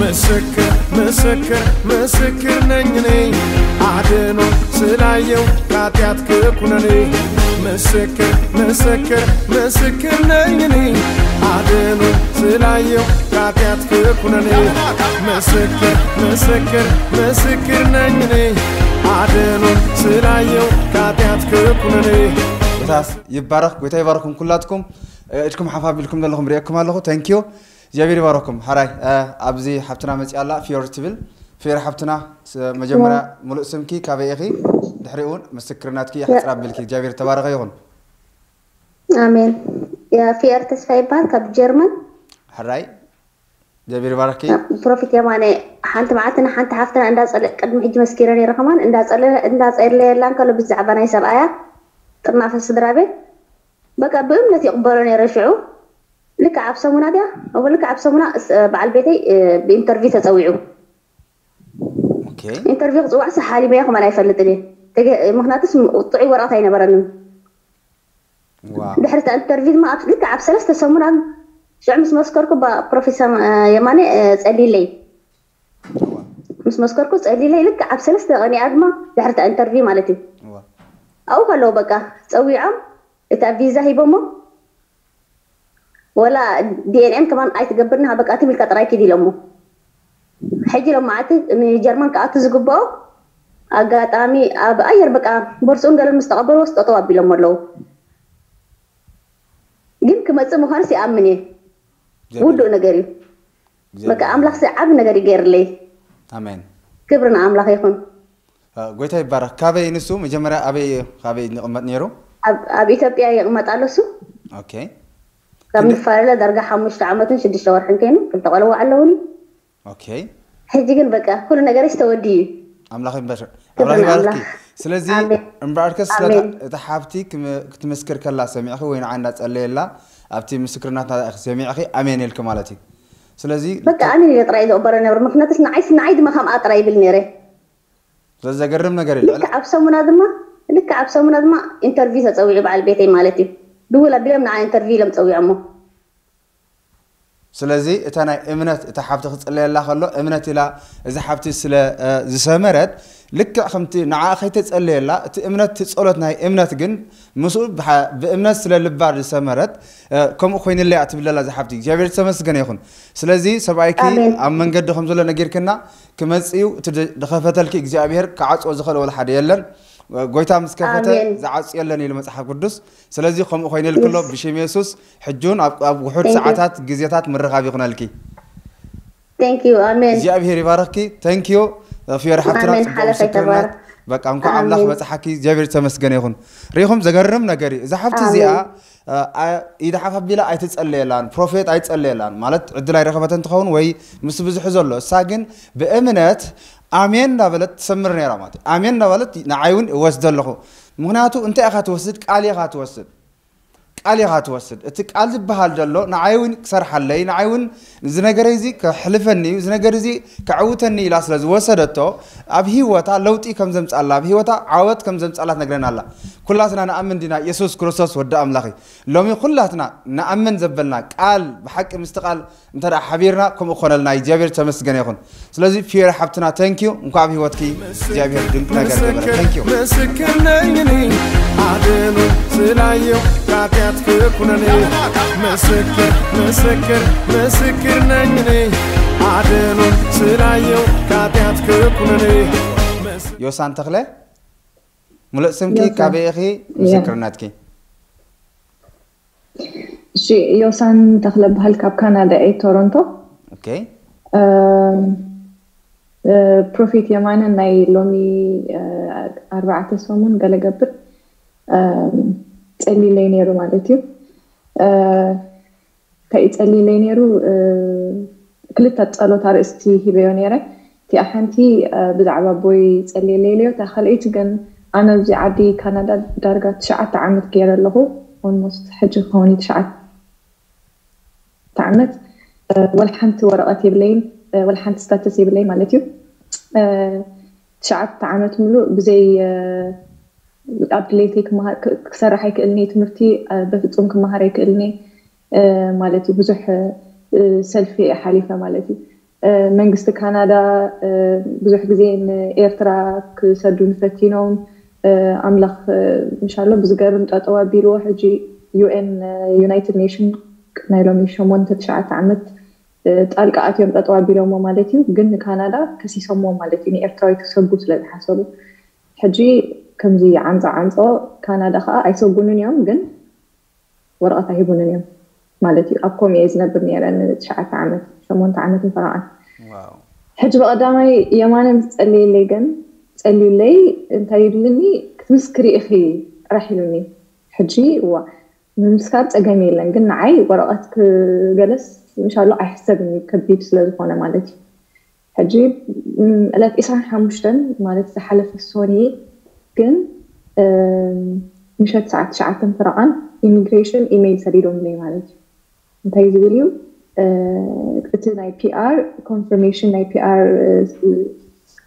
ምስክር ምስክር ምስክር ነኝ እኔ፣ አድኖ ስላየው ኃጢአት ክኩነኔ። ምስክር ምስክር ምስክር ነኝ እኔ፣ አድኖ ስላየው ኃጢአት ክኩነኔ። ምስክር ምስክር ምስክር ነኝ እኔ፣ አድኖ ስላየው ኃጢአት ክኩነኔ። ጎይታ ይባረክ፣ ጎይታ ይባረኩም ኩላትኩም። እድኩም ሓፍ ኣቢልኩም ዘለኹም ሪኤኩም ኣለኹ። ተንኪዩ። እግዚኣብሔር ይባረኩም። ሓራይ ኣብዚ ሓብትና መፅያ ኣላ፣ ፊዮር ትብል። ፊዮር ሓብትና፣ መጀመርያ ሙሉእ ስምኪ፣ ካበይ ኢኺ? ድሕሪኡ እውን ምስክርናትኪ ሓፅር ኣቢልኪ። እግዚኣብሔር ተባረኸ ይኹን። ኣሜን። ፊየር ተስፋ ይበሃል፣ ካብ ጀርመን። ሕራይ፣ እግዚኣብሔር ይባረኪ። ፕሮፌት የማነ፣ ሓንቲ መዓልቲ ንሓንቲ ሓፍትና እንዳፀለ ቅድሚ ሕጂ መስኪረ ነይረ፣ ከማን እንዳፀለየላ እንከሎ ብዛዕባ ናይ ሰብኣያ ጥርናፈ ስድራ ቤት በቃ ብእምነት ይቕበሎ ነይረ። ሽዑ ልክዕ ኣብ ሰሙና ድያ፣ እወ ልክዕ ኣብ ሰሙና በዓል ቤተይ ብኢንተርቪው ተፀዊዑ። ኢንተርቪው ክፅዋዕ ሲ ሓሊመዮ ከማን ኣይፈልጥን እየ። ምክንያቱስ ጥዑይ ወረቐት ኣይነበረንን። ድሕሪ እታ ኢንተርቪው ድማ ልክዕ ኣብ ሰለስተ ሰሙናት ሽዑ ምስ መስከርኩ ፕሮፌሰር የማነ ፀሊለይ ምስ መስከርኩ ፀሊለይ ልክዕ ኣብ ሰለስተ ቀኒኣ ድማ ድሕሪ እታ ኢንተርቪው ማለት እዩ። ኣብኡ ከለዉ በቃ ፀዊዖም እታ ቪዛ ሂቦሞ፣ ወላ ዲኤንኤን ከማን ኣይትገብርኒ፣ በቃ ትም ኢልካ ጥራይ ኪድ ኢሎሞ። ሕጂ ሎም መዓልቲ ንጀርመን ክኣቱ ዝግብኦ ኣጋጣሚ ኣብ ኣየር በቃ ቦርፅኡን ገለን ምስ ተቐበልዎ ጠጠው ኣቢሎሞ ኣለዉ። ግን ክመፅእ ምዃንስ ይኣምን እየ። ውዱእ ነገር እዩ። በቃ ኣምላኽ ሲ ዓቢ ነገር ይገይርለይ። ኣሜን። ክብሪ ንኣምላኽ ይኹን። ጎይታ ይባረክ። ካበይ ንሱ መጀመርያ ኣበይ ካበይ ይቕመጥ ነይሩ? ኣብ ኢትዮጵያ ይቕመጥ ኣሎ እሱ። ኦኬ። ካብ ንፈላለ ዳርጋ ሓሙሽተ ዓመትን ሽዱሽተ ወርሕን ኮይኑ ክልተ ቆልዋ ኣለውኒ። ኦኬ። ሕጂ ግን በቃ ኩሉ ነገርሽ ተወዲኡ እዩ። ኣምላኽ ይባርክ። ኣምላኽ ይባርክ። ስለዚ እምበኣርከስ ስለታ እታ ሓብቲ ክትምስክር ከላ ሰሚዕኺ ወይ ንዓ እንዳጸለየላ ኣብቲ ምስክርናት ናታ ሰሚዕኺ ኣሜን ኢልኪ ማለት እዩ። ስለዚ በቃ ኣሜን ኢለ ጥራይ ዝቕበሎ ነብር ምክንያቱስ ንዓይ ንዓይ ድማ ከምኣ ጥራይ ይብል ነይረ። ስለዚ ዘገርም ነገር እዩ። ልክዕ ኣብ ሰሙና ድማ ልክዕ ኣብ ሰሙና ድማ ኢንተርቪው ተጸዊዑ በዓል ቤተይ ማለት እዩ። ድውል ኣቢሎም ንዓ ኢንተርቪው ኢሎም ጸዊዖሞ። ስለዚ እታ ናይ እምነት እታ ሓብቲ ክጽለየላ ከሎ እምነት ኢላ እዛ ሓብቲ ስለ ዝሰመረት ልክዕ ከምቲ ንዓ ከይተጸለየላ እቲ እምነት እቲ ጸሎት ናይ እምነት ግን ምስኡ ብእምነት ስለ ልባ ዝሰመረት ከምኡ ኮይንለያ ትብለላ እዛ ሓብቲ እግዚኣብሔር ዝተመስገነ ይኹን። ስለዚ ሰብኣይኪ ኣብ መንገዲ ከም ዘሎ ነጊርክና ክመጽእ እዩ። እቲ ዝኸፈተልኪ እግዚኣብሔር ክዓጽዎ ዝኽእል ወላ ሓደ የለን። ጎይታ ምስ ከፈተ ዝዓጹ የለን ኢሉ መጽሓፍ ቅዱስ። ስለዚ ከምኡ ኮይነልክሎ ብሽም የሱስ ሕጂ እውን ኣብ ውሑድ ሰዓታት ግዜታት ምርኻብ ይኹነልኪ። እግዚኣብሔር ይባርኽኪ። ተንኪዩ ፊዮሪ ሓፍትና ጽቡቕ ምስክርነት። በቃ እንኳዕ ኣምላኽ በጽሓኪ። እግዚኣብሔር ዝተመስገነ ይኹን። ሪኹም ዘገርም ነገር እዩ። እዛ ሓፍቲ እዚኣ ኢዳ ሓፍ ኣቢላ ኣይትጸለየላን፣ ፕሮፌት ኣይትጸለየላን ማለት ዕድል ኣይረኸበተን ትኸውን ወይ ምስ ብዙሑ ዘሎ። እሳ ግን ብእምነት ኣሜን እንዳበለት ትሰምር ነይራ ማለት እዩ። ኣሜን እንዳበለት ንዓይ እውን እወስደ ኣለኹ። ምክንያቱ እንታይ ኢኻ ትወስድ? ቃል ኢኻ ትወስድ። ቃል ኢኻ ትወስድ። እቲ ቃል ዝበሃል ዘሎ ንዓይ እውን ክሰርሓለይ፣ ንዓይ እውን እዚ ነገረይ እዚ ከሕልፈኒ እዩ፣ እዚ ነገር እዚ ከዕውተኒ ኢላ ስለ ዝወሰደቶ ኣብ ህይወታ ለውጢ ከም ዘምጻላ፣ ኣብ ህይወታ ዓወት ከም ዘምጻላ ትነግረና ኣላ። ኩላትና ንኣምን ዲና የሱስ ክርስቶስ ወዲ ኣምላኽ እዩ? ሎሚ ኩላትና ንኣምን ዘበልና ቃል ብሓቂ ምስቲ ቃል እንተ ደኣ ሓቢርና ከምኡ ክኾነልና እግዚኣብሔር ተመስገነ ይኹን። ስለዚ ፊዮሪ ሓብትና ተንኪዩ እንኳ ኣብ ህይወትኪ እግዚኣብሔር ድንቅ ነገር ገበረ። ተንኪዩ። ምስክር ነኝ እኔ አድኖ ስላየው ኃጢአት ክኩነኔ። ምስክር ምስክር ምስክር ነኝ እኔ አድኖ ስላየው ኃጢአት ክኩነኔ። ዮሳን ተኽለ ሙሉእ ስምኪ፣ ካበይ ኢኺ? ምስክርነትኪ። እሺ፣ ዮሳን ተኽለ በሃል፣ ካብ ካናዳ እየ፣ ቶሮንቶ። ኦኬ። ፕሮፌት የማነ ናይ ሎሚ ኣርባዕተ ሰሙን ገለ ገብር ጸሊለይ ነይሩ ማለት እዩ። እንታይ እዩ ጸሊለይ ነይሩ? ክልተ ጸሎት ኣርእስቲ ሂበዮ ነይረ። እቲኣ ሓንቲ ብዛዕባ ኣቦይ ጸልየለይ ኢለዮ፣ እታ ካልኣይቲ ግን ኣነ ኣብዚ ዓዲ ካናዳ ዳርጋ ትሽዓተ ዓመት ገይረ ኣለኹ። ኦልሞስት ሕጂ ክኸውን እዩ ትሽዓተ ዓመት። ወላ ሓንቲ ወረቐት የብለይን፣ ወላ ሓንቲ ስታተስ የብለይ ማለት እዩ። ትሽዓተ ዓመት ሙሉእ ብዘይ ኣብ ድሌተይ ክሰርሕ ኣይክእልኒ፣ ትምህርቲ በፍጹም ክመሃር ኣይክእልኒ ማለት እዩ። ብዙሕ ሰልፊ እየ ሓሊፈ ማለት እዩ። መንግስቲ ካናዳ ብዙሕ ግዜ ንኤርትራ ክሰዱ ንፈቲኖም ኣምላኽ ምሻሎ ብዝገርም ጠጠው ኣቢልዎ። ሕጂ ዩኤን ዩናይትድ ኔሽን ናይ ሎሚ ሸሞንተ ትሽዓተ ዓመት ጣልቃ ኣትዮም ጠጠው ኣቢሎሞ ማለት እዩ። ግን ንካናዳ ከሲሶሞ ማለት እዩ፣ ንኤርትራዊ ክሰጉ ስለ ዝሓሰቡ። ሕጂ ከምዚ ዓንፃ ዓንፆ ካናዳ ከዓ ኣይሰጉንን እዮም፣ ግን ወረቐት ኣይህቡንን እዮም ማለት እዩ። ኣብ ኮም እየ ዝነብር ነይረ ንትሽዓተ ዓመት፣ ሸሞንተ ዓመት ንፈረቓን። ሕጂ ብቐዳማይ የማነ ምስ ጸልየለይ ግን ጸልዩለይ እንታይ ይብልኒ፣ ክትምስክሪ ኢኺ ጥራሕ ኢሉኒ። ሕጂ እዋ ምምስካር ጸገም የለን፣ ግን ንዓይ ወረቐት ክገለስ ምሻሎ ኣይሕሰብን እዩ፣ ከቢድ ስለ ዝኾነ ማለት እዩ። ሕጂ ዕለት ዕስራን ሓሙሽተን ማለት ዝሓለፈ ሶኒ ግን ምሸት ሰዓት ትሽዓተን ፍረቓን ኢሚግሬሽን ኢሜይል ሰዲዶምለይ ማለት እዩ። እንታይ ዝብል እዩ እቲ ናይ ፒኣር ኮንፈርሜሽን ናይ ፒኣር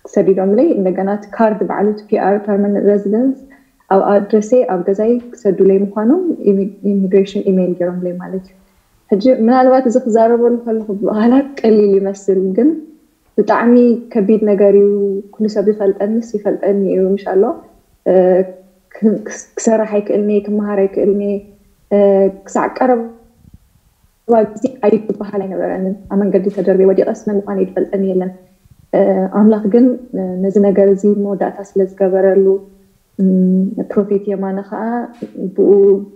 ሰዲዶምለይ፣ እንደገና እቲ ካርድ ባዕሉ እቲ ፒኣር ፐርማነንት ሬዚደንስ ኣብ ኣድረሰይ ኣብ ገዛይ ክሰዱለይ ምዃኖም ኢሚግሬሽን ኢሜይል ገይሮምለይ ማለት እዩ። ሕጂ ምናልባት እዚ ክዛረበሉ ከለኹ ብቓላት ቀሊል ይመስል፣ ግን ብጣዕሚ ከቢድ ነገር እዩ። ኩሉ ሰብ ይፈልጠንስ ይፈልጠኒ እዩ ምሻሎ። ክሰርሕ ኣይክእልኒ፣ ክመሃር ኣይክእልኒ። ክሳዕ ቀረባ ግዜ ኣይበሃል ኣይነበረንን። ኣብ መንገዲ ተደርቤ ወዲቐስ መን ምዃነይ ዝፈልጠኒ የለን። ኣምላኽ ግን ነዚ ነገር እዚ መወዳእታ ስለ ዝገበረሉ፣ ፕሮፌት የማነ ከዓ ብኡ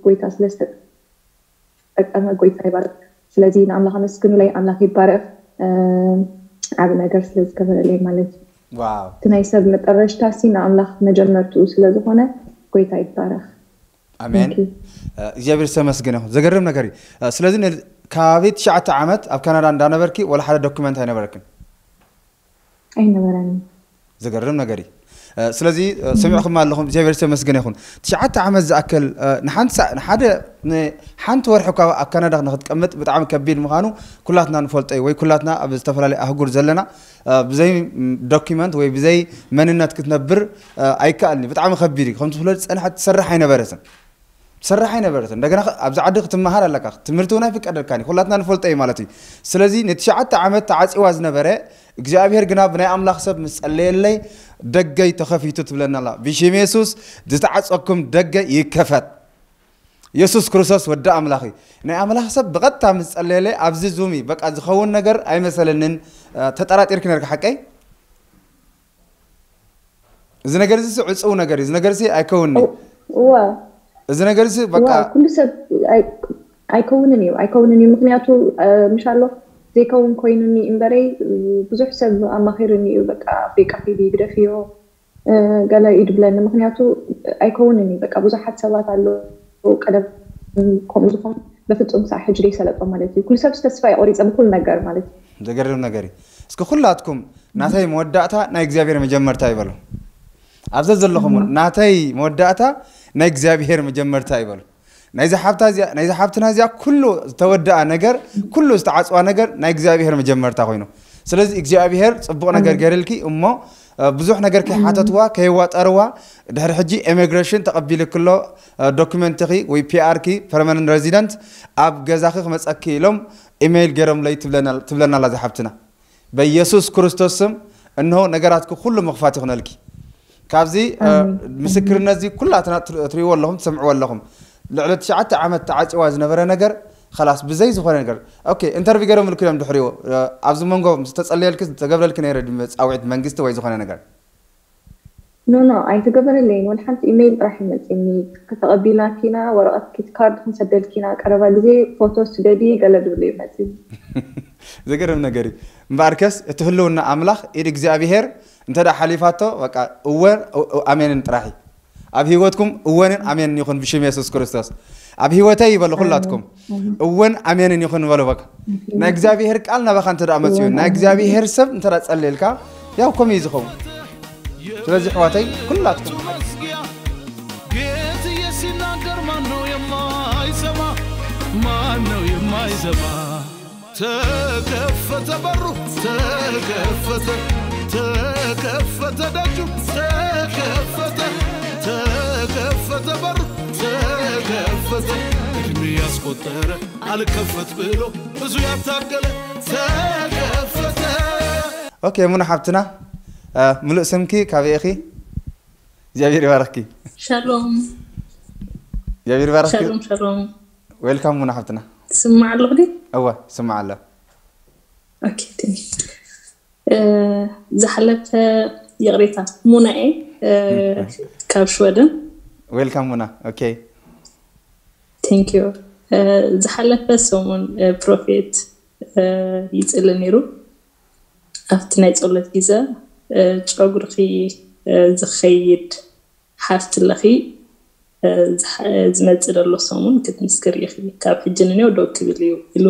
ጎይታ ስለ ዝተጠቀመ ጎይታ ይባረክ። ስለዚ ንኣምላኽ ኣመስግኑለይ፣ ኣምላኽ ይባረክ። ዓብ ነገር ስለ ዝገበረለይ ማለት እዩ። እቲ ናይ ሰብ መጠረሽታ ሲ ንኣምላኽ መጀመርትኡ ስለ ዝኾነ ጎይታ ይባረክ። ኣሜን። እግዚኣብሔር ዝተመስገነ ይኹን። ዘገርም ነገር እዩ። ስለዚ ካብ ትሽዓተ ዓመት ኣብ ካናዳ እንዳነበርኪ ወላ ሓደ ዶኩመንት ኣይነበረክን? ኣይነበረኒ። ዘገርም ነገር እዩ። ስለዚ ሰሚዕኹም ኣለኹም፣ እግዚኣብሔር ዝተመስገነ ይኹን። ትሽዓተ ዓመት ዝኣክል ንሓንቲ ሓንቲ ወርሒ እኳ ኣብ ካናዳ ንክትቀምጥ ብጣዕሚ ከቢድ ምዃኑ ኩላትና ንፈልጦ እዩ። ወይ ኩላትና ኣብ ዝተፈላለዩ ኣህጉር ዘለና ብዘይ ዶኪመንት ወይ ብዘይ መንነት ክትነብር ኣይከኣልን እዩ። ብጣዕሚ ከቢድ እዩ። ከምቲ ፍለጥ ዝፀንሐት ትሰርሕ ኣይነበረትን ትሰርሕ ኣይነበረትን። እንደገና ኣብዚ ዓዲ ክትመሃር ኣለካ፣ ትምህርቲ እውን ኣይፍቀደልካን እዩ። ኩላትና ንፈልጦ እዩ ማለት እዩ። ስለዚ ንትሽዓተ ዓመት ተዓፂዋ ዝነበረ እግዚኣብሔር ግና ብናይ ኣምላኽ ሰብ ምስ ጸለየለይ ደገይ ተኸፊቱ ትብለና ኣላ። ብሽም የሱስ ዝተዓጸኩም ደገ ይከፈት። የሱስ ክርስቶስ ወዲ ኣምላኽ እዩ። ናይ ኣምላኽ ሰብ ብቐጥታ ምስ ጸለየለይ ኣብዚ ዙም እዩ። በቃ ዝኸውን ነገር ኣይመሰለንን። ተጠራጢርኪ ነርካ ሓቀይ? እዚ ነገር እዚ ዕፅው ነገር እዩ። እዚ ነገር እዚ ኣይከውንኒ። እዋ እዚ ነገር እዚ በቃ እዋ ኩሉ ሰብ ኣይ- ኣይከውንን እዩ ኣይከውንን እዩ። ምክንያቱ ምሻሎ ዘይከውን ኮይኑኒ እምበረይ ብዙሕ ሰብ ኣማኺርኒ እዩ። በቃ ኣፍሪቃ ኪዲ ግደፍዮ ገለ እዩ ድብለኒ። ምክንያቱ ኣይከውንን እዩ። በቃ ብዙሓት ሰባት ኣለዉ ቀደም ከምኡ ዝኾኑ በፍጹም ክሳዕ ሕጂ ደይሰለጦም ማለት እዩ። ኩሉ ሰብ ተስፋ የቆሪፀ ብኩሉ ነገር ማለት እዩ። ዘገርም ነገር እዩ። እስኪ ኩላትኩም ናተይ መወዳእታ ናይ እግዚኣብሔር መጀመርታ ይበሉ። ኣብዚ ዘለኹም እውን ናተይ መወዳእታ ናይ እግዚኣብሔር መጀመርታ ይበሉ። ናይዚ ሓብታ እዚኣ ናይዚ ሓብትና እዚኣ ኩሉ ዝተወደኣ ነገር ኩሉ ዝተዓፅዋ ነገር ናይ እግዚኣብሔር መጀመርታ ኮይኑ፣ ስለዚ እግዚኣብሔር ፅቡቕ ነገር ገርልኪ እሞ ብዙሕ ነገር ከይሓተትዋ ከየዋጠርዋ ድሕሪ ሕጂ ኢሚግሬሽን ተቐቢልክሎ ዶኩመንትኺ ወይ ፒኣርኪ ፐርማነንት ሬዚደንት ኣብ ገዛኺ ክመፀኪ ኢሎም ኢሜይል ገይሮምለይ ትብለና ኣላ ዝሓብትና። በኢየሱስ ክርስቶስ ስም እንሆ ነገራትኪ ኩሉ ምኽፋት ይኹነልኪ። ካብዚ ምስክርነት እዚ ኩላትና ትሪእዎ ኣለኹም ትሰምዕዎ ኣለኹም። ልዕሊ ትሽዓተ ዓመት ተዓፂዋ ዝነበረ ነገር ኸላስ ብዘይ ዝኾነ ነገር ኦኬ ኢንተርቪ ገይሮምልኪ እዮም ድሕሪኡ ኣብዚ መንጎ ምስ ተፀለየልኪ ዝተገብረልኪ ነይረ ድዩ ፃውዒት መንግስቲ ወይ ዝኾነ ነገር? ኖ ኖ ኣይተገበረለይን። ወላ ሓንቲ ኢሜይል ጥራሕ እዩ መፂኒ። ከተቐቢልናኪና ወረቐት ኪት ካርድ ክንሰደልኪና ቀረባ ግዜ ፎቶ ስደዲ ገለ ድብል እዩ መፂኒ። ዘገርም ነገር እዩ። እምበኣርከስ እቲ ህልውና ኣምላኽ ኢድ እግዚኣብሄር እንተ ደኣ ሓሊፋቶ በቃ እወ ኣሜንን ጥራሕ እዩ። ኣብ ህይወትኩም እወንን ኣሜንን ይኹን ብሽም የሱስ ክርስቶስ። ኣብ ህይወተይ ይበሉ ኩላትኩም እወን ኣሜንን ይኹን በሉ። በቃ ናይ እግዚኣብሄር ቃል ናባኻ እንተ ደኣ መፅኡ ናይ እግዚኣብሄር ሰብ እንተ ደኣ ጸልየልካ ያው ከምኡ እዩ ዝኸውን። ስለዚ ኣሕዋተይ ኩላትኩም ጌትዬ ሲናገር ማነው የማይሰማ? ማነው የማይሰማ? ተከፈተ በሩ ተከፈተ ተከፈተ ደጁ ተከፈተ ተከፈተ በሩ ተከፈተ እድሜ ያስቆጠረ አልከፈት ብሎ ብዙ ያታገለ ተከፈተ ኦኬ፣ ሙና ሓብትና፣ እ፣ ምሉእ ስምኪ፣ ካበይ ኢኺ? እግዚኣብሔር ይባርኽኪ። ሻሎም። እግዚኣብሔር ይባርኽኪ። ሻሎም ሻሎም። ዌልካም ሙና ሓብትና። ትስማዕ ኣለኹ ዲ? እወ፣ ይስማዕ ኣሎ። ኦኬ፣ thank you። እ፣ ዝሓለፈ፣ ይቕሬታ፣ ሙናኤ፣ እ፣ ካብ ሽወደን። ዌልካም ሙና። ኦኬ። Thank you። እ፣ ዝሓለፈ ሰሙን፣ እ፣ ፕሮፌት፣ እ፣ ይጽሊ ነይሩ። ኣብቲ ናይ ጸሎት ግዜ፣ እ፣ ጨጉርኺ፣ እ፣ ዝኸይድ ሓፍቲ ኣለኺ፣ እ፣ ዝሓ-፣ ዝመጽእ ዘሎ ሰሙን ክትምስክሪ ኢኺ። ካብ ሕጂ ንኔው ደው ክብል እዩ ኢሉ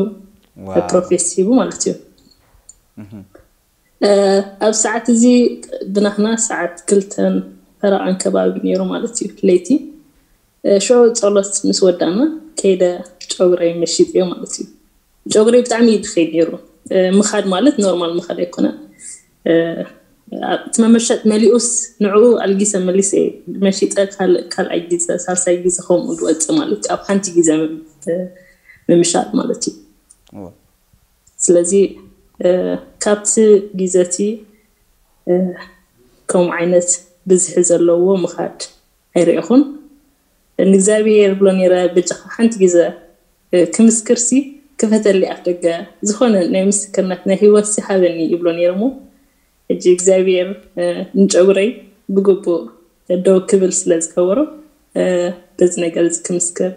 ዋው። ፕሮፌሲ ሂቡ ማለት እዩ። እህ። እ፣ ኣብ ሰዓት እዚ ብናህና ሰዓት ክልተን ፈረቓን ከባቢ ነይሩ ማለት እዩ፣ ለይቲ። እ፣ ሽዑ ጸሎት ምስ ወዳእና ከይደ ጨጉረይ መሺጠዮ ማለት እዩ። ጨጉረይ ብጣዕሚ እዩ ዝኸይድ ነይሩ። እ፣ ምኻድ ማለት ኖርማል ምኻድ ኣይኮነን። እ፣ እቲ መመሸጥ መሊኡስ ንዕኡ ኣልጊሰ መሊሰ እየ መሺጠ፣ ካልእ፣ ካልኣይ ግዜ፣ ሳልሳይ ግዜ ከምኡ ዝወጽእ ማለት እዩ። ኣብ ሓንቲ ግዜ ምም-፣ እ፣ ምምሻጥ ማለት እዩ። እወ። ስለዚ፣ እ፣ ካብቲ ግዜ እቲ፣ እ፣ ከምኡ ዓይነት ብዝሒ ዘለዎ ምኻድ ኣይረእኹን። ንእግዚኣብሔር ይብሎ ነይረ፣ በጃኻ ሓንቲ ግዜ፣ እ፣ ክምስክርሲ ክፈተለይ ኣፍ ደገ፣ ዝኾነ ናይ ምስክርነት ናይ ህይወትሲ ሃበኒ ይብሎ ነይረ እሞ፣ ሕጂ እግዚኣብሔር፣ እ፣ ንጨጉረይ ብግቡእ ደው ክብል ስለ ዝገበሮ፣ እ፣ በዚ ነገር እዚ ክምስክር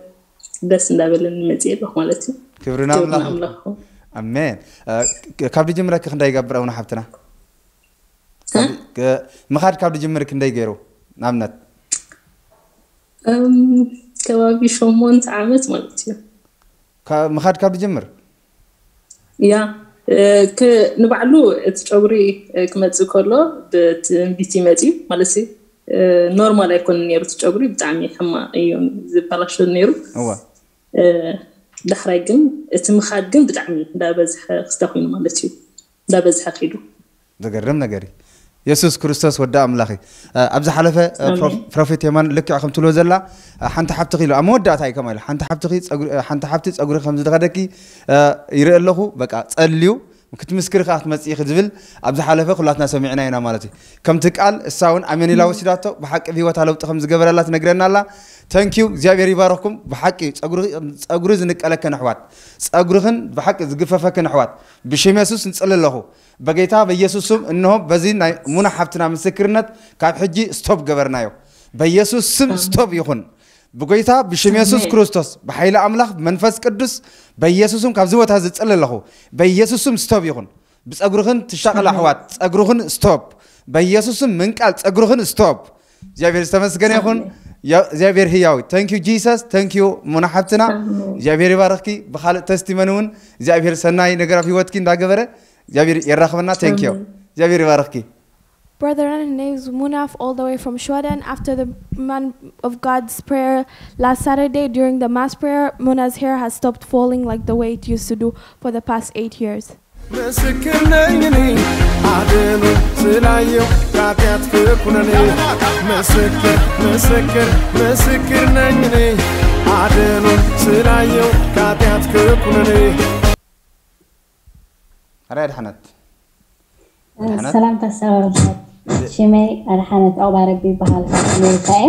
ደስ እንዳበለኒ መፅእ ኣለኹ ማለት እዩ። ክብሪ ክብሪ ንኣምላኽ። ንኣምላኽ ይኹን። ኣሜን። እ፣ ክ-፣ ካብ ድጅምረ ክንደይ ይገብር ኣቡነ ሓብትና? እ? ክ-፣ ምኻድ ካብ ድጅምር ክንደይ ገይሩ? ንኣብነት እም፣ ከባቢ ሸሞንተ ዓመት ማለት እዩ። ካ-፣ ምኻድ ካብ ድጅምር? ያ፣ እ፣ ክ-፣ ንባዕሉ እቲ ጨጉሪ፣ እ፣ ክመጽእ ከሎ ብትንቢት ይመጽእ ማለት እዩ። እ፣ ኖርማል ኣይኮነን ነይሩ እቲ ጨጉሪ፣ ብጣዕሚ ሕማቕ እዩ ዝበላሾ ነይሩ። እወ። እ፣ ዳሕራይ ግን እቲ ምኻድ ግን ብጣዕሚ እንዳበዝሐ ክስተ ኮይኑ ማለት እዩ። እንዳበዝሐ ኪዱ። ዘገርም ነገር እዩ። የሱስ ክርስቶስ ወዲ ኣምላኽ እዩ። እ፣ ኣብ ዝሓለፈ፣ እ፣ ፕሮ-፣ ኣሜን። ፕሮፌት የማን ልክዕ ከም ትብሎ ዘላ፣ እ፣ ሓንቲ ሓብትኺ ኢሉ ኣብ መወዳእታ እዩ ከምኣ ኢሉ፣ ሓንቲ ሓብትኺ ጸጉሪ፣ እ፣ ሓንቲ ሓብቲ ጸጉሪ ከም ዝደኸደኪ፣ እ፣ ይርኢ ኣለኹ፣ በቃ ጸልዩ ክትምስክሪ ከኣ ክትመጽኢ ኢኺ ዝብል ኣብ ዝሓለፈ ኩላትና ሰሚዕና ኢና ማለት እዩ። ከምቲ ቃል እሳ እውን ኣሜን ኢላ ወሲዳቶ፣ ብሓቂ ኣብ ህይወታ ለውጢ ከም ዝገበረላ ትነግረና ኣላ። ተንኪዩ፣ እግዚኣብሔር ይባረኽኩም። ብሓቂ ጸጉሪ፣ ጸጉሪ ዝንቀለክን ኣሕዋት፣ ጸጉርኽን ብሓቂ ዝግፈፈክን ኣሕዋት፣ ብሽም የሱስ ንጽሊ ኣለኹ። በጌታ በኢየሱስ ስም፣ እንሆ በዚ ናይ ሙና ሓብትና ምስክርነት ካብ ሕጂ ስቶፕ ገበርናዮ። በኢየሱስ ስም ስቶፕ ይኹን። ብጎይታ ብሽም የሱስ ኣሜን። ክርስቶስ፣ ብሓይሊ ኣምላኽ፣ ብመንፈስ ቅዱስ፣ በኢየሱስ ስም ካብዚ ቦታ እዚ እጽሊ ኣለኹ። በኢየሱስ ስም ስቶፕ ይኹን። ብጸጉርኽን ትሻቐል ኣሕዋት፣ ጸጉርኽን ስቶፕ። በኢየሱስ ስም ምንቃል ጸጉርኽን ስቶፕ። እግዚኣብሔር ዝተመስገነ ይኹን። ኣሜን። ያ-፣ እግዚኣብሔር ህያው እዩ። Thank you Jesus፣ thank you ሙና ሓብትና። ኣሜን። እግዚኣብሔር ይባርኽኪ። ብኻልእ ተስቲመኒ እውን እግዚኣብሔር ሰናይ ነገር ኣብ ህይወትኪ እንዳገበረ እግዚኣብሔር የራኽበና። Thank you። ኣሜን። እግዚኣብሔር ይባርኽኪ። Brethren, her name is Munaf, all the way from Sweden. After the man of God's prayer last Saturday during the mass prayer, Muna's hair has stopped falling like the way it used to do for the past eight years. ምስክር ነኝ እኔ አድኖ ስላየው ከኃጢአት ኩነኔ። ምስክር ምስክር ምስክር ነኝ እኔ አድኖ ስላየው ከኃጢአት ኩነኔ። ኣራይ ድሓነት። ድሓነት። ሰላምታ ሰላም። ሽመይ ኣድሓነት ዑቕባረቢ ይበሃል፣ ካብ ኣሜሪካ እየ።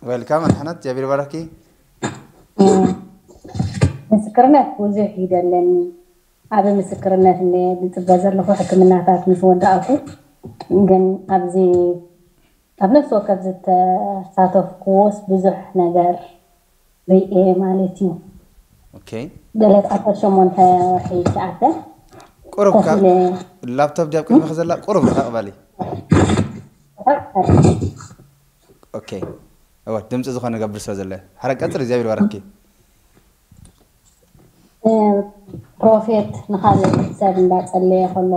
ዌልካም ኣድሓነት፣ እግዚኣብሔር ይባርኪ። ምስክርነት ብዙሕ እዩ ዘለኒ። ኣብ ምስክርነት እንደ ዝፅበ ዘለኹ ሕክምናታት ምስ ወዳእኩ፣ ግን ኣብዚ ኣብ ነፍሲ ወከፍ ዝተሳተፍኩዎስ ብዙሕ ነገር ርእየ ማለት እዩ። ኦኬ። ገለ ዓሰርተ ሸሞንተ ወርሒ ይትኣተ ቁሩብ ኮፍ ካብ ኢለ ላፕቶፕ ዲያብ ቅድሚኺ ዘላ ቁሩብ ርሕቕ በሊ። ኦኬ። እወ፣ ድምፂ ዝኾነ ገብር ስለ ዘለ። ሓረ ቀፅል፣ እግዚኣብሔር ይባርኪ። ፕሮፌት ንኻልእ ሰብ እንዳጸለየ ከሎ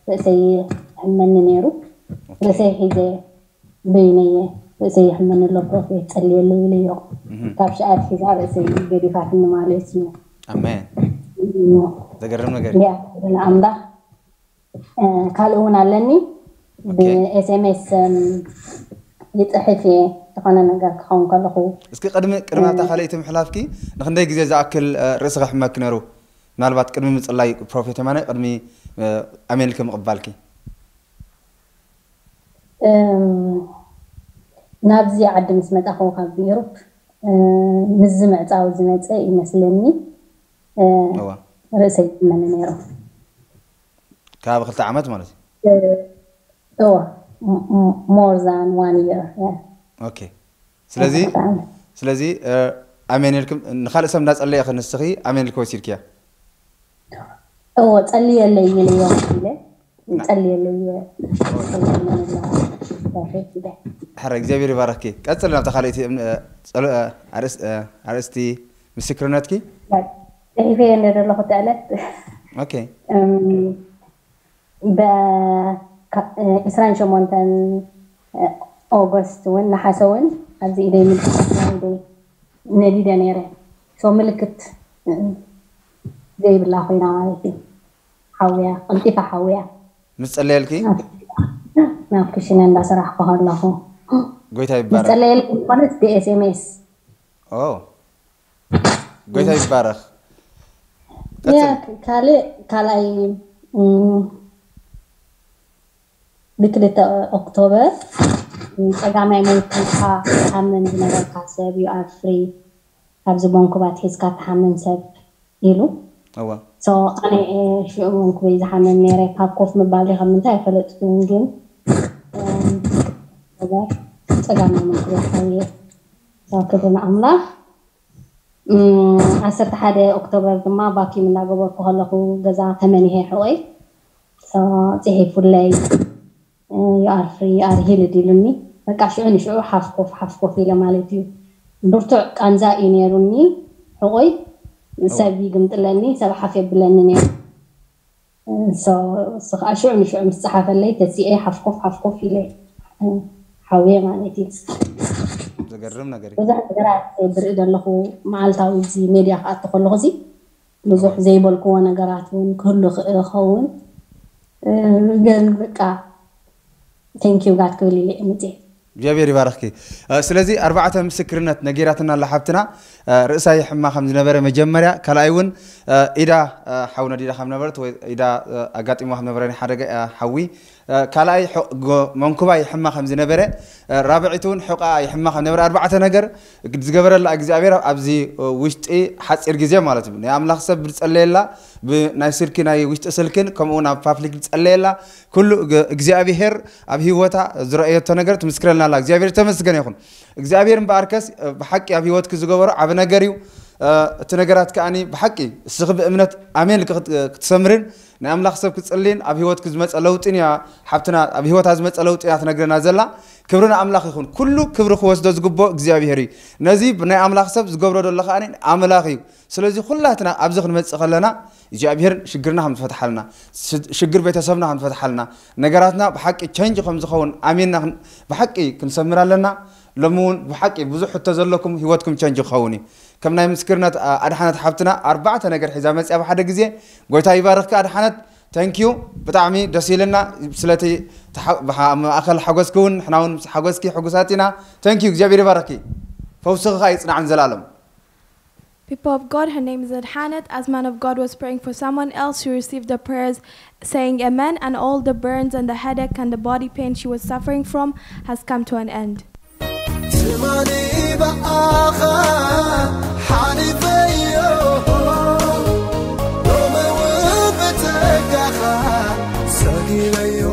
ርእሰይ ይሕመኒ ነይሩ። ርእሰይ ሒዘ በይነየ ርእሰይ ይሕመኒ ኣሎ ፕሮፌት ጸልየለይ ኢለዮ። ካብ ሽኣት ሒዛ ርእሰይ ገዲፋትኒ ማለት እዩ። ኣሜን። ዘገርም ነገር። እንዲያ ኣምላኽ። ካልእ እውን ኣለኒ። ብኤስኤምኤስ ይፅሕፍ እየ ዝኾነ ነገር ክኸውን ከለኹ። እስኪ ቅድሚ ቅድሚ ናታ ካልኣይቲ ምሕላፍኪ ንክንደይ ግዜ ዝኣክል ርእስኺ ሕመኪ ነይሩ? ምናልባት ቅድሚ ምፅላይ ፕሮፌት የማነ ቅድሚ ኣሜን ኢልኪ ምቕባልኪ። ናብዚ ዓዲ ምስ መጻኹ ካብ ዩሮፕ፣ እ፣ ምስዚ ምዕጻው ዝመጸ ይመስለኒ፣ እ፣ እዋ ርእሰይ ይመኒ ነይሩ። ካብ ክልተ ዓመት ማለት እዩ። እ፣ እዋ፣ ም-፣ ም-፣ more than one year፣ yeah። ኦኬ። ስለዚ ክልተ ዓመት። ስለዚ እ፣ ኣሜን ኢልኩም ንኻልእ ሰብ እንዳጸለየ ንስኺ ኣሜን ኢልኪ ወሲድክያ። እዎ፣ ጸልየለይ ኢለዮ ኢለ፣ ጸልየለይ ኢለ። ሕረ እግዚኣብሔር ይባረክኪ። ቀጽል ናብታ ካልእቲ እም፣ እ፣ ጸሎ-፣ እ፣ ኣርእስ-፣ እ፣ ኣርእስቲ ምስክርነትኪ። ጽሒፈ እንደ ዘለኹ ተዕለት ኦኬ። እም፣ በ-፣ ካ-፣ እ፣ ዕስራን ሸሞንተን ኦገስት እውን፣ ነሓሰ እውን ኣብዚ ኢደይ ምልክት ኢደይ ነዲደ ነይረ። ሶ ምልክት፣ እ፣ ዘይብላ ኮይና ማለት እዩ። ሓውያ፣ ቀልጢፋ ሓውያ። ምስ ጸለየልኪ ናብ፣ ናብ ክሽነ እንዳሰራሕኩ ከለኹ። ጎይታ ይባረክ። ዝጸለየልኩ ዝኾነት ብኤስኤምኤስ። ኦ፣ ጎይታ ይባረክ። ያ፣ ቀጽል። ካልእ፣ ካልኣይ፣ እም፣ ብክልተ ኦክቶበር፣ እም፣ ጸጋማይ መንኩብካ ትሓምም ዝነበርካ ሰብ፣ you are free፣ ካብዚ መንኩባት ሒዝካ ትሓምም ሰብ ኢሉ። እዋ ሶ ኣነ፣ እ፣ ሽዑ መንኩበይ ዝሓምም ነይረ። ካብ ኮፍ ምባል ዲኻ ምንታይ ኣይፈለጥኩን፣ ግን፣ እም፣ ጸጋማይ መንኩበይ ሓውየ። ሶ ክብሪ ንኣምላኽ። እም፣ ዓሰርተ ሓደ ኦክቶበር ድማ ቫኪዩም እናገበርኩ ከለኹ ገዛ ተመኒሄ ሕቆይ። ሶ ጽሒፉለይ፣ እ፣ you are free፣ you are healed ኢሉኒ። በቃ ሽዑ ንሽዑ ሓፍ ኮፍ፣ ሓፍ ኮፍ ኢለ ማለት እዩ። ብርቱዕ ቃንዛ እዩ ነይሩኒ ሕቆይ። ሰብ ይግምጥለኒ፣ ሰብ ሓፍ የብለኒ ነይሩ። ሶ፣ እሱ ከዓ ሽዑ ንሽዑ ምስ ጸሓፈለይ ተሲኤ ሓፍ ኮፍ፣ ሓፍ ኮፍ ኢለ፣ እ፣ ሓውየ ማለት እዩ። ዘገርም ነገር እዩ። ብዙሕ ነገራት ብርኢ ዘለኹ፣ መዓልታዊ እዚ ሜድያ ክኣቱ ከለኹ እዚ ብዙሕ ዘይበልክዎ ነገራት እውን ክህሉ ይኽእል ይኸውን። እ፣ ግን በቃ፣ thank you God ክብል ኢለ እየ መፅየ። እግዚኣብሔር ይባርኽኪ። እ፣ ስለዚ ኣርባዕተ ምስክርነት ነጊራትና ኣላ ሓብትና። እ፣ ርእሳ ይሕማ ከም ዝነበረ መጀመርያ፣ ካልኣይ እውን፣ እ፣ ኢዳ፣ እ፣ ሓው ነዲዳ ከም ነበረት ወይ ኢዳ፣ እ፣ ኣጋጢሞ ከም ነበረ ናይ ሓደ ገ-፣ እ፣ ሓዊ፣ እ፣ ካልኣይ ሑ-፣ ጎ-፣ መንኩባ ይሕማ ከም ዝነበረ፣ እ፣ ራብዒቲ እውን ሕቋ ይሕማ ከም ነበረ፣ ኣርባዕተ ነገር ዝገበረላ እግዚኣብሔር ኣብዚ፣ እ፣ ውሽጢ ሓፂር ግዜ ማለት እዩ። ናይ ኣምላኽ ሰብ ዝጸለየላ፣ ብናይ ስልኪ ናይ ውሽጢ ስልክን ከምኡ እውን ኣብ ፓብሊክ ዝጸለየላ ኩሉ እግ-፣ እግዚኣብሔር ኣብ ህይወታ ዝረኣየቶ ነገር ትምስክረልና ኣላ። እግዚኣብሔር ተመስገን ይኹን። እግዚኣብሔር እምበኣርከስ፣ እ፣ ብሓቂ ኣብ ህይወትኪ ዝገበሮ ዓቢ ነገር እዩ። እ፣ እቲ ነገራት ከኣኒ ብሓቂ እስኺ ብእምነት ኣሜን ኢልኪ ክት-፣ ክትሰምርን ናይ ኣምላኽ ሰብ ክትጽልይን ኣብ ህይወትኪ ዝመጸ ለውጢን እያ፣ ሓብትና ኣብ ህይወታ ዝመጸ ለውጢ እያ ትነግረና ዘላ። ክብሪ ንኣምላኽ ይኹን። ኩሉ ክብሪ ክወስዶ ዝግብኦ እግዚኣብሔር እዩ። ነዚ ብናይ ኣምላኽ ሰብ ዝገብሮ ዘሎ ከኣኒ ኣምላኽ እዩ። ስለዚ ኩላትና ኣብዚ ክንመጽእ ከለና እግዚኣብሔር ሽግርና ከም ዝፈትሓልና፣ ሽ-፣ ሽግር ቤተሰብና ከም ዝፈትሓልና፣ ነገራትና ብሓቂ ቸንጅ ከም ዝኸውን ኣሚንና ክን-፣ ብሓቂ ክንሰምር ኣለና። ሎሚ እውን ብሓቂ ብዙሕ ሕቶ ዘለኩም ህይወትኩም ቸንጅ ክኸውን እዩ። ከም ናይ ምስክርነት፣ ኣ-፣ ኣድሓነት ሓብትና ኣርባዕተ ነገር ሒዛ መፅያ ብሓደ ግዜ። ጎይታ ይባርኽካ ኣድሓነት። ተንኪዩ። ብጣዕሚ ደስ ኢልና ስለቲ ተሓ-፣ ብሓ-፣ ማእኸል ሓጎስኪ እውን፣ ንሕና እውን ምስ ሓጎስኪ ሕጉሳት ኢና። ተንኪዩ። እግዚኣብሔር ይባርኽኪ። ፈውስኺ ከዓ ይጽናዕ ንዘላለም። People of God, her name is Adhanet. As man of God was praying for someone else, she received the prayers saying amen, and all the burns and the headache and the body pain she was suffering from has come to an end. ትማሊ ብኣኻ ሓሊፈዮ፣ ሎሚ እውን ብጸጋኻ ሰጊረዮ።